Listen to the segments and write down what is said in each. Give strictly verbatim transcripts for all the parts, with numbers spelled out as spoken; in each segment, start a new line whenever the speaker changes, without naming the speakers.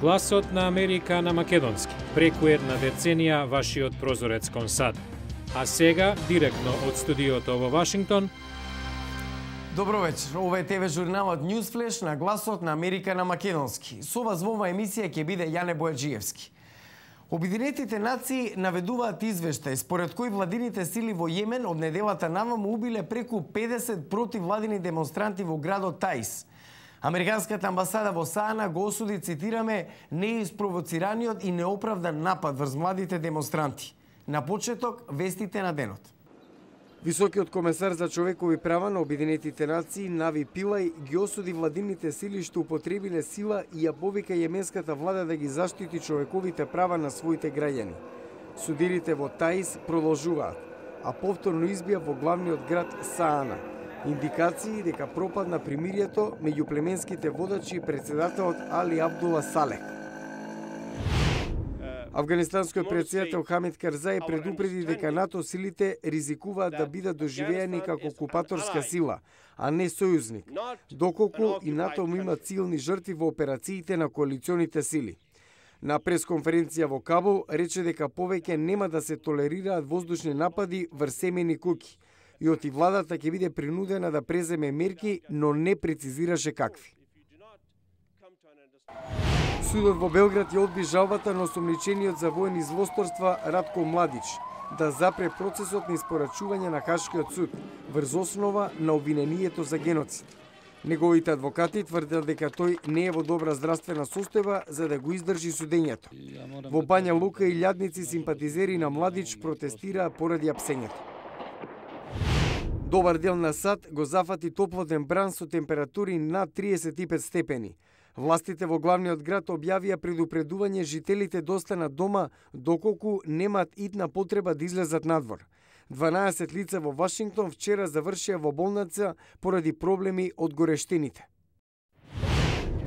Гласот на Америка на македонски. Преку една деценија вашиот прозорец кон САД. А сега, директно од студиото во Вашингтон.
Добро вечер. Ова е ТВ журналот Newsflash на Гласот на Америка на македонски. Со вас во оваа емисија ќе биде Јане Бојаджиевски. Обединетите нации наведуваат извештај според кој владините сили во Јемен од неделата наваму убиле преку педесет противвладини демонстранти во градот Таиз. Американската амбасада во Саана го осуди, цитираме, неиспровоцираниот и неоправдан напад врз младите демонстранти. На почеток, вестите на денот. Високиот комесар за човекови права на Обединетите нации Нави Пилај ги осуди владините сили што употребиле сила и ја повика јеменската влада да ги заштити човековите права на своите граѓани. Судирите во Таиз продолжуваат, а повторно избија во главниот град Саана. Индикации дека пропадна примирието меѓу племенските водачи и председателот Али Абдула Салех. Афганистанскиот председател Хамид Карзаи предупреди дека НАТО силите ризикуваат да бидат доживеани како окупаторска сила, а не сојузник, доколку и НАТО има цилни жртви во операциите на коалиционите сили. На пресконференција во Кабул рече дека повеќе нема да се толерираат воздушни напади врз семени куки и оти владата ќе биде принудена да преземе мерки, но не прецизираше какви. Судот во Белград ја одби жалбата на осомничениот за воени злосторства Радко Младич да запре процесот на испорачување на Хашкиот суд врз основа на обвинението за геноцид. Неговите адвокати тврдат дека тој не е во добра здравствена состојба за да го издржи судењето. Во Бања Лука и илјадници симпатизери на Младич протестираа поради апсењето. Добар дел на САД го зафати топлотен бран со температури над триесет и пет степени. Властите во главниот град објавија предупредување жителите да останат дома доколку немаат итна потреба да излезат надвор. дванаесет лица во Вашингтон вчера завршија во болница поради проблеми од горештините.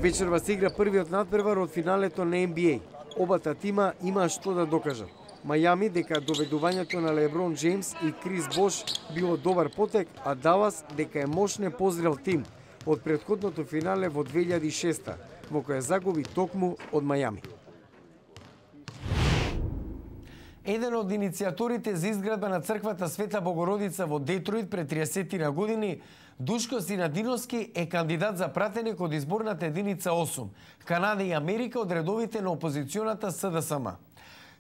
Вечерва се игра првиот надпревар од финалето на Н Б А. Обата тима има што да докажат. Мајами дека доведувањето на Леброн Джеймс и Крис Бош било добар потек, а Далас дека е мощне позрел тим од претходното финале во две илјади и шеста, во која загуби токму од Мајами. Еден од иницијаторите за изградба на црквата Света Богородица во Детройт пред триесет години, Душко Синадиновски е кандидат за пратеник од изборната единица осум, Канада и Америка од редовите на опозиционата С Д С М.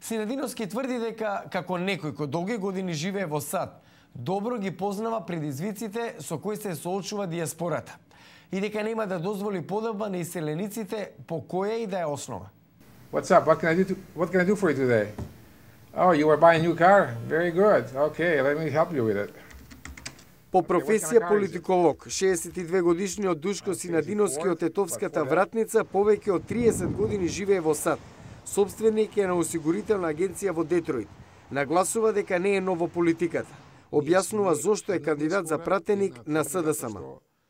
Синадиновски тврди дека, како некој кој долги години живее во САД, добро ги познава предизвиците со кои се соочува дијаспората и дека нема да дозволи подоба на иселениците по која и да е основа.
What's up? What can I do to, what can I do for you today? Oh, you were buying a new car? Very good. Okay, let me help you with it.
По професија политиколог, шеесет и две годишниот Душко Синадиновски од Тетовската вратница повеќе од триесет години живее во САД. Собственик е на осигурителна агенција во Детройт. Нагласува дека не е нов во политиката. Објаснува зошто е кандидат за пратеник на С Д С М.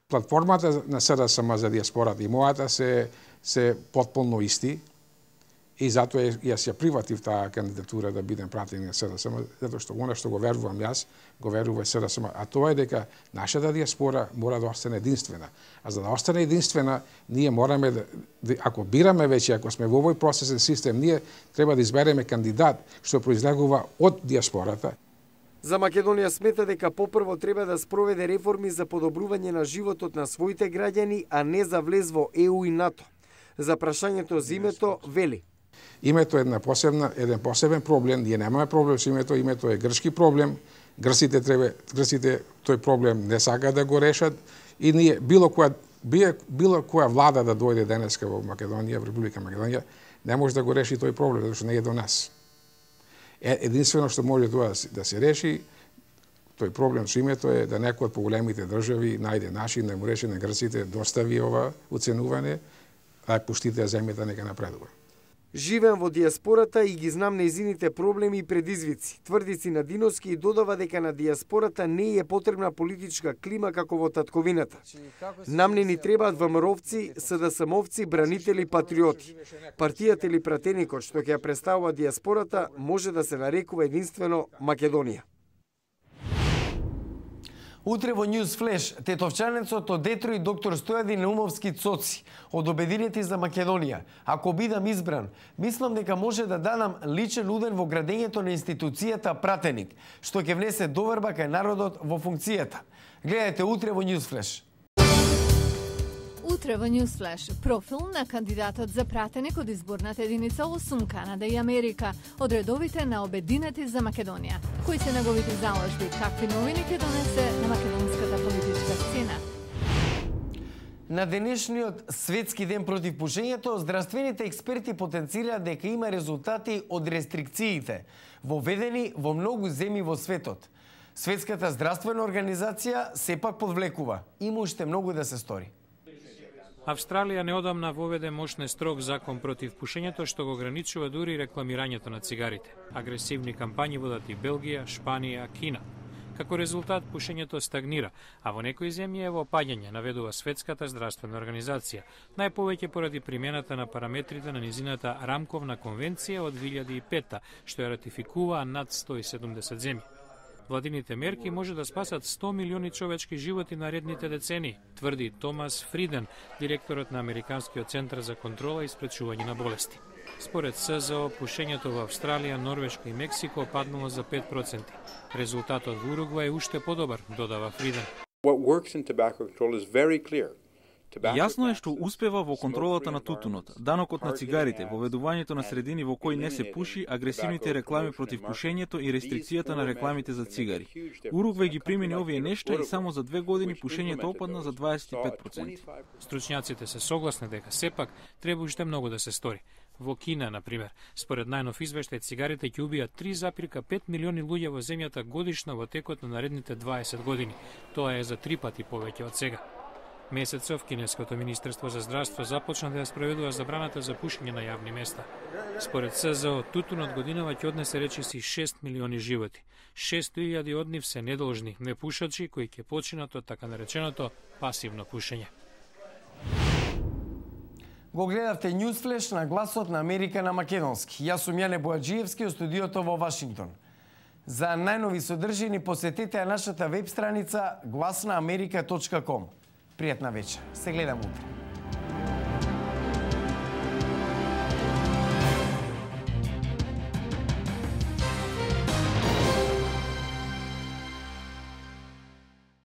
Платформата на С Д С М за дијаспората и мојата се се потполно исти и затоа јас ја прифатив таа кандидатура да бидем пратеник на С Д С М, затоа што она што го верувам јас, го верува и С Д С М, а тоа е дека нашата дијаспора мора да остане единствена. А за да остане единствена, ние мораме да, ако бираме веќе, ако сме во овој процесен систем, ние треба да избереме кандидат што произлегува од дијаспората.
За Македонија смета дека попрво треба да спроведе реформи за подобрување на животот на своите граѓани, а не за влез во Е У и НАТО. За прашањето за името вели:
Името е една посебна, еден посебен проблем, ние немаме проблем со името, името е грчки проблем. Грците треба, грците тој проблем не сакаат да го решат и ние било која било која влада да дојде денеска во Македонија, во Република Македонија, не може да го реши тој проблем, затоа што не е до нас. Единствено што може тоа да се реши, тој проблем со името е да некој од поголемите држави најде начин да му реши на грците, достави ова оценување, а пуштите земјата нека напредува.
Живеам во дијаспората и ги знам нејзините проблеми и предизвици. Тврди Синадиновски и додава дека на дијаспората не е потребна политичка клима како во татковината. Нам не ни требаат ВМРО-вци, С Д С М-овци, бранители, патриоти. Партијата или пратеникот што ќе ја представува дијаспората може да се нарекува единствено Македонија. Утре во News Flash, тетовчанецот од Детройт доктор Стојадин Наумовски Цоци од Обединети за Македонија. Ако бидам избран, мислам дека може да дадам личен уден во градењето на институцијата пратеник, што ќе внесе доверба кај народот во функцијата. Гледајте утре во News Flash.
Утре во News Flash, профил на кандидатот за пратеник од изборната единица осум Канада и Америка, од редовите на Обединети за Македонија. Кои се неговите заложби, какви новини ќе донесе на македонската политичка сцена?
На денешниот светски ден против пушењето, здравствените експерти потенцираат дека има резултати од рестрикциите, воведени во многу земји во светот. Светската здравствена организација сепак подвлекува. Има уште многу да се стори.
Австралија неодамна воведе мощен строг закон против пушењето што го ограничува дури рекламирањето на цигарите. Агресивни кампањи водат и Белгија, Шпанија, Кина. Како резултат, пушењето стагнира, а во некои земји е во опаѓање, наведува Светската здравствена организација, најповеќе поради примената на параметрите на низината Рамковна конвенција од две илјади и пета, што ја ратификуваа над сто и седумдесет земји. Владините мерки може да спасат сто милиони човечки животи наредните децении, тврди Томас Фриден, директорот на Американскиот центар за контрола и спречување на болести. Според СЗО, пушењето во Австралија, Норвешка и Мексико паднало за пет проценти. Резултатот во Уругвај е уште подобар, додава Фриден.
What works in tobacco control is very clear.
Јасно е што успева во контролата на тутунот, данокот на цигарите, воведувањето на средини во кои не се пуши, агресивните реклами против пушењето и рестрикцијата на рекламите за цигари. Уругвај ги примени овие нешта и само за две години пушењето опадна за дваесет и пет проценти.
Стручњаците се согласни дека сепак треба уште многу да се стори. Во Кина, например, според најнов извештај, цигарите ќе убијат три запирка пет милиони луѓе во земјата годишно во текот на наредните дваесет години. Тоа е за три пати повеќе од сега. Месецов Кинеското министерство за здравство започна да ја спроведува забраната за пушење на јавни места. Според СЗО, тутунот годинава ќе однесе речиси шест милиони животи. шест илјади од нив се недолжни непушачи кои ќе починат од така нареченото пасивно пушење.
Го гледавте News Flash на гласот на Америка на македонски. Јас сум Јане Бојаджиевски од студиото во Вашингтон. За најнови содржини посетете ја нашата веб страница глас на америка точка ком. Пријатна вечер. Се гледам утре.